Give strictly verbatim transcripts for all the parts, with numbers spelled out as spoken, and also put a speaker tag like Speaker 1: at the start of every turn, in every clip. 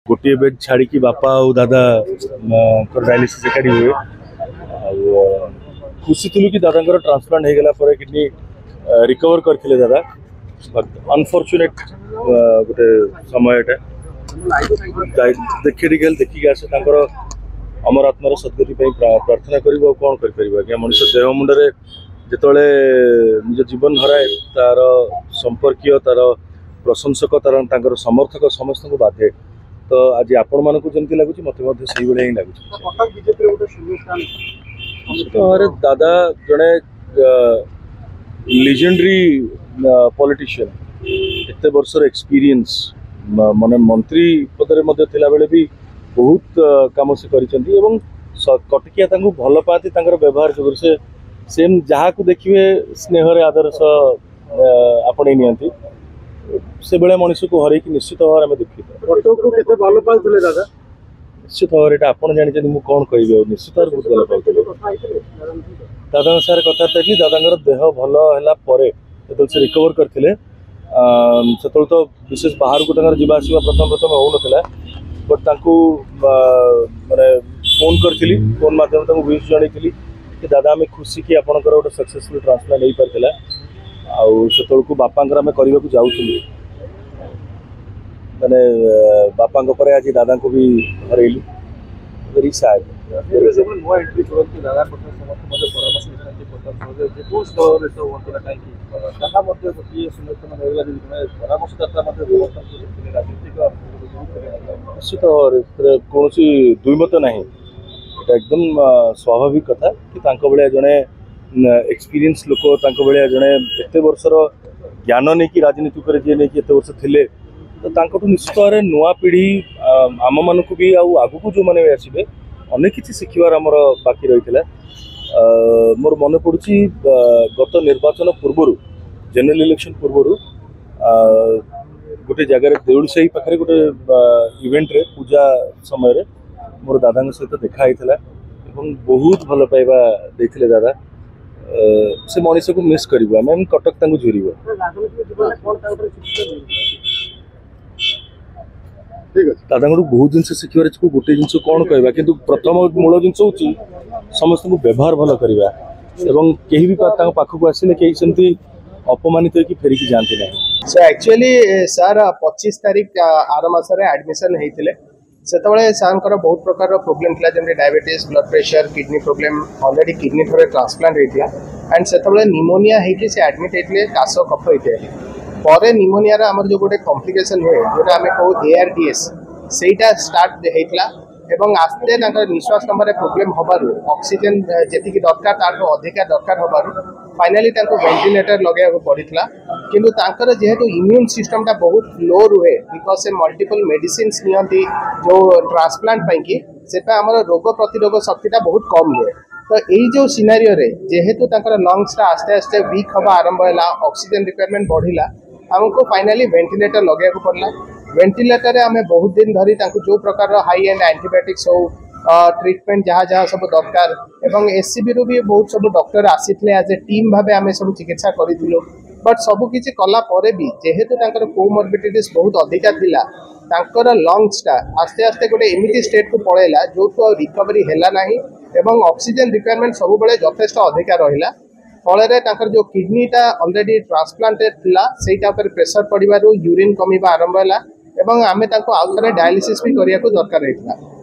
Speaker 1: ଗୋଟିଏ ବେଡ୍ ଛାଡ଼ିକି ବାପା ଆଉ ଦାଦାଙ୍କର ଡାୟାଲିସିସ୍ ଏକାଠି ହୁଏ। ଆଉ ଖୁସି ଥିଲୁ କି ଦାଦାଙ୍କର ଟ୍ରାନ୍ସପ୍ଲାଣ୍ଟ ହେଇଗଲା ପରେ କିଡନୀ ରିକଭର କରିଥିଲେ ଦାଦା। ବଟ୍ ଅନଫର୍ଚୁନେଟ୍ ଗୋଟେ ସମୟ ଏଇଟା। ଦେଖି ଟିକେ ଦେଖିକି ଆସେ, ତାଙ୍କର ଅମର ଆତ୍ମାର ସଦ୍ଗତି ପାଇଁ ପ୍ରାର୍ଥନା କରିବୁ, ଆଉ କ'ଣ କରିପାରିବୁ ଆଜ୍ଞା। ମଣିଷ ଦେହ ମୁଣ୍ଡରେ ଯେତେବେଳେ ନିଜ ଜୀବନ ହରାଏ, ତାର ସମ୍ପର୍କୀୟ, ତାର ପ୍ରଶଂସକ, ତାର ତାଙ୍କର ସମର୍ଥକ ସମସ୍ତଙ୍କୁ ବାଧେ। ତ ଆଜି ଆପଣମାନଙ୍କୁ ଯେମିତି ଲାଗୁଛି, ମୋତେ ମଧ୍ୟ ସେଇଭଳିଆ ହିଁ ଲାଗୁଛି। ନିଶ୍ଚିତ ଭାବରେ ଦାଦା ଜଣେ ଲିଜେଣ୍ଡାରୀ ପଲିଟିସିଆନ। ଏତେ ବର୍ଷର ଏକ୍ସପିରିଏନ୍ସ, ମାନେ ମନ୍ତ୍ରୀ ପଦରେ ମଧ୍ୟ ଥିଲାବେଳେ ବି ବହୁତ କାମ ସେ କରିଛନ୍ତି ଏବଂ କଟକିଆ ତାଙ୍କୁ ଭଲ ପାଆନ୍ତି ତାଙ୍କର ବ୍ୟବହାର ଯୋଗୁଁ। ସେ ସେମ୍ ଯାହାକୁ ଦେଖିବେ ସ୍ନେହରେ ଆଦର ସହ ଆପଣେଇ ନିଅନ୍ତି। ସେଭଳିଆ ମଣିଷକୁ ହରେଇକି ନିଶ୍ଚିତ ଭାବରେ ଆମେ ଦୁଃଖିତ।
Speaker 2: କଟକକୁ କେତେ ଭଲ ପାଉଥିଲେ ଦାଦା?
Speaker 1: ନିଶ୍ଚିତ ଭାବରେ ଏଇଟା ଆପଣ ଜାଣିଛନ୍ତି, ମୁଁ କ'ଣ କହିବି ଆଉ। ନିଶ୍ଚିତ ଭାବରେ ବହୁତ ଭଲ ପାଉଥିଲେ। ଦାଦାଙ୍କ ସାଙ୍ଗରେ କଥାବାର୍ତ୍ତା ହେଇଥିଲି। ଦାଦାଙ୍କର ଦେହ ଭଲ ହେଲା ପରେ ଯେତେବେଳେ ସେ ରିକଭର କରିଥିଲେ, ସେତେବେଳେ ତ ବିଶେଷ ବାହାରକୁ ତାଙ୍କର ଯିବା ଆସିବା ପ୍ରଥମେ ପ୍ରଥମେ ହେଉନଥିଲା। ବଟ୍ ତାଙ୍କୁ ମାନେ ଫୋନ୍ କରିଥିଲି, ଫୋନ୍ ମାଧ୍ୟମରେ ତାଙ୍କୁ ୱିଶ୍ ଜଣେଇଥିଲି କି ଦାଦା, ଆମେ ଖୁସି କି ଆପଣଙ୍କର ଗୋଟେ ସକ୍ସେସଫୁଲ୍ ଟ୍ରାନ୍ସପ୍ଲାଣ୍ଟ ହେଇପାରିଥିଲା। ଆଉ ସେତେବେଳକୁ ବାପାଙ୍କର ଆମେ କରିବାକୁ ଯାଉଥିଲୁ। ମାନେ ବାପାଙ୍କ ପରେ ଆଜି ଦାଦାଙ୍କୁ ବି ହରେଇଲୁ। Very sad.
Speaker 2: ନୂଆ ଏଣ୍ଟ୍ରି କରନ୍ତି ଦାଦା କଥା ସମସ୍ତେ ମଧ୍ୟ ପରାମର୍ଶ ଦେଇଥାନ୍ତି। ପ୍ରତାପ ସହଦେବ ଯେକୌଣସି ଦଳର ନେତା ହୁଅନ୍ତୁ ନା କାହିଁକି, ତାହା ମଧ୍ୟ ଗୋଟିଏ ସମର୍ଥନ ମିଳିଲା। ଯଦି ଜଣେ ପରାମର୍ଶଦାତା ମଧ୍ୟ ସମସ୍ତଙ୍କୁ ଥିଲେ, ରାଜନୈତିକ
Speaker 1: ନିଶ୍ଚିତ ଭାବରେ ସେଥିରେ କୌଣସି ଦ୍ୱିମତ ନାହିଁ। ଏଇଟା ଏକଦମ ସ୍ୱାଭାବିକ କଥା କି ତାଙ୍କ ଭଳିଆ ଜଣେ ଏକ୍ସପିରିଏନ୍ସ ଲୋକ, ତାଙ୍କ ଭଳିଆ ଜଣେ ଏତେ ବର୍ଷର ଜ୍ଞାନ ନେଇକି ରାଜନୀତି ଉପରେ ଯିଏ ନେଇକି ଏତେ ବର୍ଷ ଥିଲେ, ତ ତାଙ୍କଠୁ ନିଶ୍ଚିତ ଭାବରେ ନୂଆ ପିଢ଼ି ଆମମାନଙ୍କୁ ବି ଆଉ ଆଗକୁ ଯେଉଁମାନେ ବି ଆସିବେ, ଅନେକ କିଛି ଶିଖିବାର ଆମର ବାକି ରହିଥିଲା। ମୋର ମନେ ପଡ଼ୁଛି, ଗତ ନିର୍ବାଚନ ପୂର୍ବରୁ, ଜେନେରାଲ ଇଲେକ୍ସନ ପୂର୍ବରୁ ଗୋଟେ ଜାଗାରେ ଦେଉଳସାହି ପାଖରେ ଗୋଟେ ଇଭେଣ୍ଟରେ ପୂଜା ସମୟରେ ମୋର ଦାଦାଙ୍କ ସହିତ ଦେଖା ହେଇଥିଲା ଏବଂ ବହୁତ ଭଲ ପାଇବା ଦେଇଥିଲେ ଦାଦା। ସେ ମଣିଷକୁ ମିସ୍ କରିବୁ ଆମେ, କଟକ ତାଙ୍କୁ ଝୁରିବ। ଦାଦାଙ୍କଠୁ ବହୁତ ଜିନିଷ ଶିଖିବାର ଅଛି। ଗୋଟେ ଜିନିଷ କ'ଣ କହିବା, କିନ୍ତୁ ପ୍ରଥମ ମୂଳ ଜିନିଷ ହେଉଛି ସମସ୍ତଙ୍କୁ ବ୍ୟବହାର ଭଲ କରିବା ଏବଂ କେହି ବି ତାଙ୍କ ପାଖକୁ ଆସିଲେ କେହି ସେମିତି ଅପମାନିତ ହେଇକି ଫେରିକି ଯାଆନ୍ତି ନାହିଁ।
Speaker 3: ସୋ ଆକ୍ଚୁଆଲି ସାର୍ ପଚିଶ ତାରିଖ ଆର ମାସରେ ଆଡମିସନ୍ ହେଇଥିଲେ। ସେତେବେଳେ ସାର୍ଙ୍କର ବହୁତ ପ୍ରକାରର ପ୍ରୋବ୍ଲେମ୍ ଥିଲା, ଯେମିତି diabetes, blood pressure, kidney problem. Already kidney ଥରେ ଟ୍ରାନ୍ସପ୍ଲାଣ୍ଟ ହେଇଥିଲା ଆଣ୍ଡ ସେତେବେଳେ ନିମୋନିଆ ହେଇକି ସେ ଆଡମିଟ୍ ହେଇଥିଲେ, କାଶ, କଫ ଇତ୍ୟାଦି। ପରେ ନିମୋନିଆର ଆମର ଯେଉଁ ଗୋଟେ କମ୍ପ୍ଲିକେସନ୍ ହୁଏ, ଯେଉଁଟା ଆମେ କହୁ ଏ ଆର୍ ଡି ଏସ୍, ସେଇଟା ଷ୍ଟାର୍ଟ ହେଇଥିଲା ଏବଂ ଆସ୍ତେ ତାଙ୍କର ନିଶ୍ୱାସ ନେବାରେ ପ୍ରୋବ୍ଲେମ୍ ହେବାରୁ, ଅକ୍ସିଜେନ୍ ଯେତିକି ଦରକାର ତାଠୁ ଅଧିକା ଦରକାର ହେବାରୁ ଫାଇନାଲି ତାଙ୍କୁ ଭେଣ୍ଟିଲେଟର ଲଗାଇବାକୁ ପଡ଼ିଥିଲା। କିନ୍ତୁ ତାଙ୍କର ଯେହେତୁ ଇମ୍ୟୁନ୍ ସିଷ୍ଟମଟା ବହୁତ ଲୋ ରୁହେ, because ସେ ମଲ୍ଟିପଲ୍ ମେଡିସିନ୍ସ ନିଅନ୍ତି ଯେଉଁ ଟ୍ରାନ୍ସପ୍ଲାଣ୍ଟ ପାଇଁକି, ସେଥିପାଇଁ ଆମର ରୋଗ ପ୍ରତିରୋଧ ଶକ୍ତିଟା ବହୁତ କମ୍ ରୁହେ। ତ ଏଇ ଯେଉଁ ସିନାରିଓରେ ଯେହେତୁ ତାଙ୍କର ଲଙ୍ଗସଟା ଆସ୍ତେ ଆସ୍ତେ ୱିକ୍ ହେବା ଆରମ୍ଭ ହେଲା, ଅକ୍ସିଜେନ୍ ରିକ୍ୱାରମେଣ୍ଟ ବଢ଼ିଲା, ଆମକୁ ଫାଇନାଲି ଭେଣ୍ଟିଲେଟର ଲଗାଇବାକୁ ପଡ଼ିଲା। ଭେଣ୍ଟିଲେଟରରେ ଆମେ ବହୁତ ଦିନ ଧରି ତାଙ୍କୁ ଯେଉଁ ପ୍ରକାରର ହାଇ ଏଣ୍ଡ ଆଣ୍ଟିବାୟୋଟିକ୍ସ ହଉ, ଟ୍ରିଟମେଣ୍ଟ ଯାହା ଯାହା ସବୁ ଦରକାର ଏବଂ ଏସ୍ ସି ବିରୁ ବି ବହୁତ ସବୁ ଡକ୍ଟର ଆସିଥିଲେ, ଆଜ୍ ଏ ଟିମ୍ ଭାବେ ଆମେ ସବୁ ଚିକିତ୍ସା କରିଥିଲୁ। ବଟ୍ ସବୁ କିଛି କଲା ପରେ ବି ଯେହେତୁ ତାଙ୍କର କୋମର୍ବିଡିଟିସ୍ ବହୁତ ଅଧିକା ଥିଲା, ତାଙ୍କର ଲଙ୍ଗସଟା ଆସ୍ତେ ଆସ୍ତେ ଗୋଟେ ଏମିତି ଷ୍ଟେଟ୍କୁ ପଳେଇଲା ଯେଉଁଠୁ ଆଉ ରିକଭରି ହେଲା ନାହିଁ ଏବଂ ଅକ୍ସିଜେନ୍ ରିକ୍ୱାରମେଣ୍ଟ ସବୁବେଳେ ଯଥେଷ୍ଟ ଅଧିକା ରହିଲା। ଫଳରେ ତାଙ୍କର ଯେଉଁ କିଡନୀଟା ଅଲରେଡ଼ି ଟ୍ରାନ୍ସପ୍ଲାଣ୍ଟେଡ୍ ଥିଲା, ସେଇଟା ଉପରେ ପ୍ରେସର ପଡ଼ିବାରୁ ୟୁରିନ୍ କମିବା ଆରମ୍ଭ ହେଲା ଏବଂ ଆମେ ତାଙ୍କୁ ଆଉ ଥରେ ଡାୟାଲିସିସ୍ ବି କରିବାକୁ ଦରକାର ହେଇଥିଲା।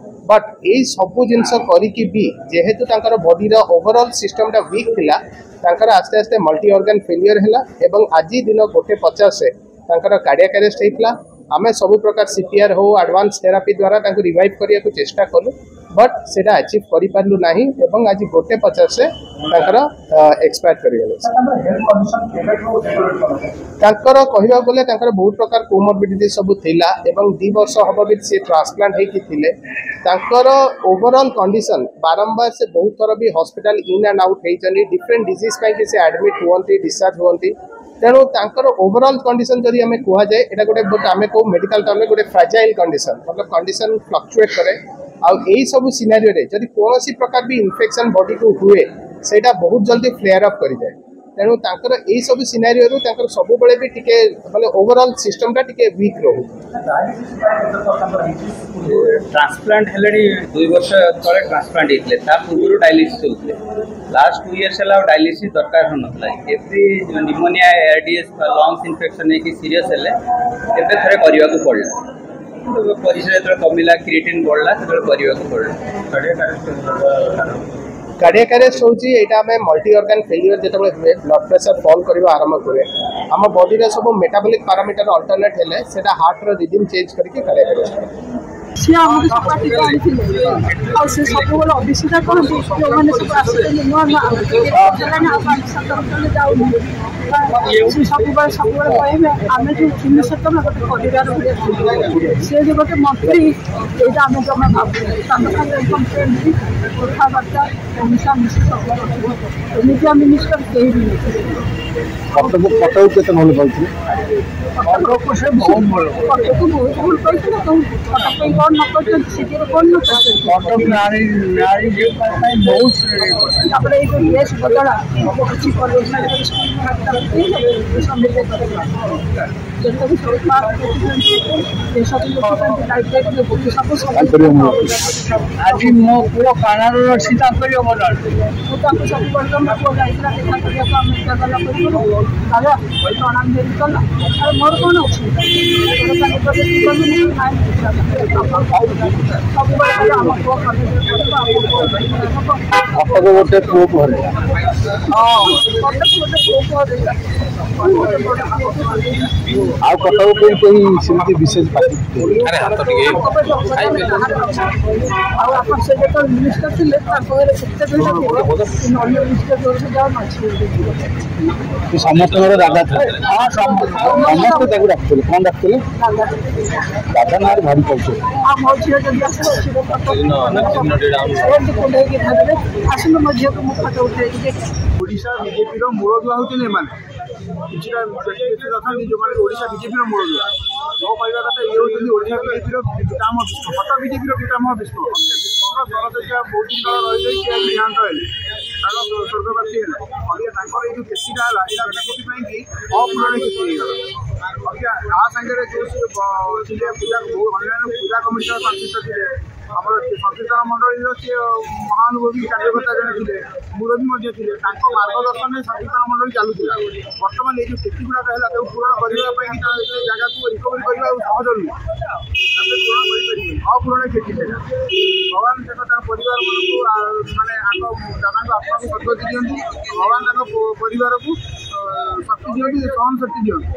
Speaker 3: ବଟ୍ ଏଇ ସବୁ ଜିନିଷ କରିକି ବି ଯେହେତୁ ତାଙ୍କର ବଡିର ଓଭରଅଲ୍ ସିଷ୍ଟମଟା ୱିକ୍ ଥିଲା, ତାଙ୍କର ଆସ୍ତେ ଆସ୍ତେ ମଲ୍ଟି ଅର୍ଗାନ୍ ଫେଲିୟର ହେଲା ଏବଂ ଆଜି ଦିନ ଗୋଟେ ପଚାଶରେ ତାଙ୍କର କାର୍ଡ଼ିଆକ୍ ଆରେଷ୍ଟ ହେଇଥିଲା। ଆମେ ସବୁ ପ୍ରକାର ସି ପି ଆର୍ ହଉ, ଆଡ଼ଭାନ୍ସ ଥେରାପି ଦ୍ୱାରା ତାଙ୍କୁ ରିଭାଇଭ୍ କରିବାକୁ ଚେଷ୍ଟା କଲୁ, ବଟ୍ ସେଇଟା ଆଚିଭ୍ କରିପାରିଲୁ ନାହିଁ ଏବଂ ଆଜି ଗୋଟେ ପଚାଶରେ ତାଙ୍କର ଏକ୍ସପାୟାର କରିଗଲେ। ତାଙ୍କର କହିବାକୁ ଗଲେ ତାଙ୍କର ବହୁତ ପ୍ରକାର କୋମର୍ବିଡିଟି ସବୁ ଥିଲା ଏବଂ ଦୁଇ ବର୍ଷ ହବ ବି ସେ ଟ୍ରାନ୍ସପ୍ଲାଣ୍ଟ ହେଇକି ଥିଲେ। ତାଙ୍କର ଓଭରଅଲ୍ କଣ୍ଡିସନ୍ ବାରମ୍ବାର ସେ ବହୁତ ଥର ବି ହସ୍ପିଟାଲ ଇନ୍ ଆଣ୍ଡ ଆଉଟ୍ ହେଇଛନ୍ତି। ଡିଫରେଣ୍ଟ ଡିଜିଜ୍ ପାଇଁକି ସେ ଆଡମିଟ୍ ହୁଅନ୍ତି, ଡିସଚାର୍ଜ ହୁଅନ୍ତି। ତେଣୁ ତାଙ୍କର ଓଭରଅଲ୍ କଣ୍ଡିସନ୍ ଯଦି ଆମେ କୁହାଯାଏ, ଏଇଟା ଗୋଟେ ଆମେ କହୁ ମେଡିକାଲ ଟର୍ମରେ ଗୋଟେ ଫ୍ରାଜାଇଲ୍ କଣ୍ଡିସନ୍, ମତଲବ କଣ୍ଡିସନ୍ ଫ୍ଲକ୍ଚୁଏଟ୍ କରେ। ଆଉ ଏଇ ସବୁ ସିନାରିଓରେ ଯଦି କୌଣସି ପ୍ରକାର ବି ଇନଫେକ୍ସନ୍ ବଡିକୁ ହୁଏ, ସେଇଟା ବହୁତ ଜଲ୍ଦି ଫ୍ଲେୟାର ଅପ୍ କରିଯାଏ। ତେଣୁ ତାଙ୍କର ଏଇ ସବୁ ସିନାରିଓରୁ ତାଙ୍କର ସବୁବେଳେ ବି ଟିକେ ମାନେ ଓଭରଅଲ୍ ସିଷ୍ଟମଟା ଟିକେ ୱିକ୍ ରହୁଛି।
Speaker 4: ଟ୍ରାନ୍ସପ୍ଲାଣ୍ଟ ହେଲେଣି, ଦୁଇ ବର୍ଷ ତଳେ ଟ୍ରାନ୍ସପ୍ଲାଣ୍ଟ ହେଇଥିଲେ। ତା ପୂର୍ବରୁ ଡାଇଲିସିସ୍ ହେଉଥିଲେ। ଲାଷ୍ଟ ଟୁ ଇୟର୍ସ ହେଲା ଆଉ ଡାଇଲିସିସ୍ ଦରକାର ହେଉନଥିଲା। ଏଭ୍ରି ନିମୋନିଆ, ଏଆରଡିଏସ୍, ଲଙ୍ଗସ୍ ଇନଫେକ୍ସନ୍ ହେଇକି ସିରିୟସ୍ ହେଲେ ଏବେ ଥରେ କରିବାକୁ ପଡ଼ିଲା। କିନ୍ତୁ ପରିସ୍ରା ଯେତେବେଳେ କମିଲା, କ୍ରିଏଟିନ୍ ବଢ଼ିଲା, ସେତେବେଳେ କରିବାକୁ ପଡ଼ିଲା।
Speaker 3: କାର୍ଡ଼ିଆକ୍ ଆରେଷ୍ଟ ହେଉଛି ଏଇଟା ଆମେ ମଲ୍ଟି ଅର୍ଗାନ ଫେଲିୟର ଯେତେବେଳେ ହୁଏ, ବ୍ଲଡ୍ ପ୍ରେସର ଫଲ୍ କରିବା ଆରମ୍ଭ କରେ, ଆମ ବଡିର ସବୁ ମେଟାବଲିକ୍ ପାରାମିଟର ଅଲ୍ଟରନେଟ୍ ହେଲେ ସେଇଟା ହାର୍ଟର ରିଦିମ୍ ଚେଞ୍ଜ କରିକି କାର୍ଡ଼ିଆକ୍ ଆରେଷ୍ଟ କରେ।
Speaker 5: ସିଏ ଆମକୁ ସବୁ ପାର୍ଟିକୁ ଆଣିଥିଲେ ଆଉ ସେ ସବୁବେଳେ ଅଭିଷେକ କରନ୍ତି। ଯେଉଁମାନେ ସବୁ ଆସିଛନ୍ତି ନୂଆ ନୂଆ, ଆମେ ହେଲାଣି ଆଉ ପାଞ୍ଚ ସାତ ବର୍ଷ ହେଲେ ଯାଉନୁ। ସେ ସବୁବେଳେ ସବୁବେଳେ କହିବେ, ଆମେ ଯେଉଁ ଥିଲୁ ସେତେବେଳେ ଗୋଟେ ପରିବାର ଭଳିଆ ଥିଲୁ। ସେ ଯେ ଗୋଟେ ମନ୍ତ୍ରୀ, ଏଇଟା ଆମେ ଜମା ଭାବୁନୁ। ତାଙ୍କ ସାଙ୍ଗରେ ଏକଦମ ଫ୍ରେଣ୍ଡଲି କଥାବାର୍ତ୍ତା, ମିଶାମିଶି ସବୁ। ଏମିତିଆ ମିନିଷ୍ଟର କେହି ବି ନଥିଲେ।
Speaker 6: କଟକ କଟକ କେତେ ଭଲ ପାଉଥିଲେ?
Speaker 5: କଟକକୁ ସେ ବହୁତ ଭଲ, କଟକକୁ ବହୁତ ଭଲ ପାଇଥିଲେ। ତ କଟକ ପାଇଁ କ'ଣ ନ କରିଛନ୍ତି? ସିଟିରେ କ'ଣ ନ କରିଛନ୍ତି?
Speaker 6: କଟକ ନାରୀ ନାରୀ ଝିଅ ପାଇଁ ବହୁତ।
Speaker 5: ତାପରେ ଏଇ ଯୋଉ ଡ୍ରେସ୍ ବଦଳା କିଛି କଲେଜ ସ୍କୁଲ ଯେତେବି ସବୁ ପାର୍କ ଦେଖୁଛନ୍ତି, ଏସବୁ ଦେଖୁଛନ୍ତି, ଲାଇଟ୍ ଲାଇଟ୍ ସବୁ ସବୁ।
Speaker 6: ଆଜି ମୋ ପୁଅ କାନାଡ଼ାରେ ଅଛି, ତାଙ୍କରି ଅବଦାନ।
Speaker 5: ମୁଁ ତାଙ୍କୁ ସବୁବେଳେ, ମୋ ପୁଅ ଯାଇଥିଲା ଦେଖା କରିବାକୁ ଆମେରିକା ଗଲା ପୂର୍ବରୁ, ଦାଦା ପ୍ରଣାମ ଦେବି କଲା। ଆଉ ମୋର କ'ଣ ଅଛି? ସବୁବେଳେ କହିଲେ, ଆମ ପୁଅ କଲେଜରେ ପଢ଼ିବ, ଆମ ପୁଅ ହବ।
Speaker 6: କଟକ ଗୋଟେ ପୁଅକୁ ହରେଇଲା।
Speaker 5: ହଁ, କଟକ ଗୋଟେ ପୁଅକୁ ହରେଇଲା, ଗୋଟେ ବଡ଼ ପୁଅକୁ ହରେଇଲା।
Speaker 6: ଆଉ କଟକ ପାଇଁ କେହି ସେମିତି ବିଶେଷ ପାର୍ଟି?
Speaker 5: ଆଉ ଆପଣ ସେ ଯେତେବେଳେ ମିନିଷ୍ଟର ଥିଲେ, ତାଙ୍କ ଘରେ ଏତେ ଭିଡ଼ ଥିଲା, ଅନ୍ୟ ମିନିଷ୍ଟର ଘରକୁ ଯାଉ ମାଛି।
Speaker 6: ସେ ସମସ୍ତଙ୍କର ଦାଦା ଥିଲେ। ସମସ୍ତେ ତାକୁ ଡାକୁଥିଲେ। କଣ ଡାକୁଥିଲେ?
Speaker 5: ଦାଦା।
Speaker 6: ଦାଦା ନାଁରେ ଭାରି ପରିଚୟ।
Speaker 5: ଆଉ ମୋ ଝିଅ ଯଦି ଆସିବ, ଝିଅ ଫଟୋ ଏମିତି କୁଣ୍ଡେଇକି ଧରିବେ, ଆସନ୍ତୁ ମୋ ଝିଅକୁ ମୁଁ ଫଟୋ ଉଠେଇକି ଦେଖେ।
Speaker 7: ଓଡ଼ିଶା ବିଜେପିର ମୂଳଦୁଆ ହେଉଛନ୍ତି ଏମାନେ। କିଛିଟା ବ୍ୟକ୍ତି ଅଛନ୍ତି ଯେଉଁମାନେ ଓଡ଼ିଶା ବିଜେପିର ମୂଳଦୁଆ। ମୋ କହିବା କଥା, ଇଏ ହେଉଛନ୍ତି ଓଡ଼ିଶା ବିଜେପିର ପିତାମହ ଭୀଷ୍ମ, କଟକ ବିଜେପିର ପିତାମହ ଭୀଷ୍ମ। ଭୀଷ୍ମଙ୍କ ଶରଶଯ୍ୟା ବହୁତ ଦିନ ତଳେ ରହିଯାଇ ସିଏ ଆଜି ଦେହାନ୍ତ ହେଲେ, ତାଙ୍କ ସ୍ୱର୍ଗବାସୀ ହେଲେ। ଅବିକା ତାଙ୍କର ଏଇ ଯେଉଁ କ୍ଷତିଟା ହେଲା, ଏଇଟା ଗୋଟେ କୋଟି ପାଇଁ କି ଅପୂରଣୀୟ କ୍ଷତି ହେଇଗଲା। ଅବିକା ତା ସାଙ୍ଗରେ ଯେଉଁ ସିଏ ଥିଲେ, ପୂଜା ଅନ୍ୟାନ୍ୟ ପୂଜା କମିଟି ସହ ସଂଶ୍ଳିଷ୍ଟ ଥିଲେ, ଆମର ସଂକୀର୍ତ୍ତନ ମଣ୍ଡଳୀର ସିଏ ମହାନୁଭବୀ କାର୍ଯ୍ୟକର୍ତ୍ତା ଜଣେ ଥିଲେ, ମୁରବୀ ମଧ୍ୟ ଥିଲେ। ତାଙ୍କ ମାର୍ଗଦର୍ଶନରେ ସଂକୀର୍ତ୍ତନ ମଣ୍ଡଳୀ ଚାଲୁଥିଲା। ବର୍ତ୍ତମାନ ଏଇ ଯେଉଁ କ୍ଷତି ଗୁଡ଼ାକ ହେଲା, ତାକୁ ପୂରଣ କରିବା ପାଇଁ କି ସେ ଜାଗାକୁ ରିକଭରି କରିବା ଆଉ ସହଜ ନୁହେଁ। ତାକୁ ପୂରଣ କରିପାରିବେନି, ଅପୂରଣୀୟ କ୍ଷତି ସେଇଟା। ଭଗବାନ ତାଙ୍କ ତାଙ୍କ ପରିବାରମାନଙ୍କୁ, ମାନେ ଆଗ ଦାଦାଙ୍କ ଆତ୍ମାକୁ ସଦ୍ଗତି ଦିଅନ୍ତୁ। ଭଗବାନ ତାଙ୍କ ପରିବାରକୁ ଶକ୍ତି ଦିଅନ୍ତୁ, ସହନ ଶକ୍ତି ଦିଅନ୍ତୁ।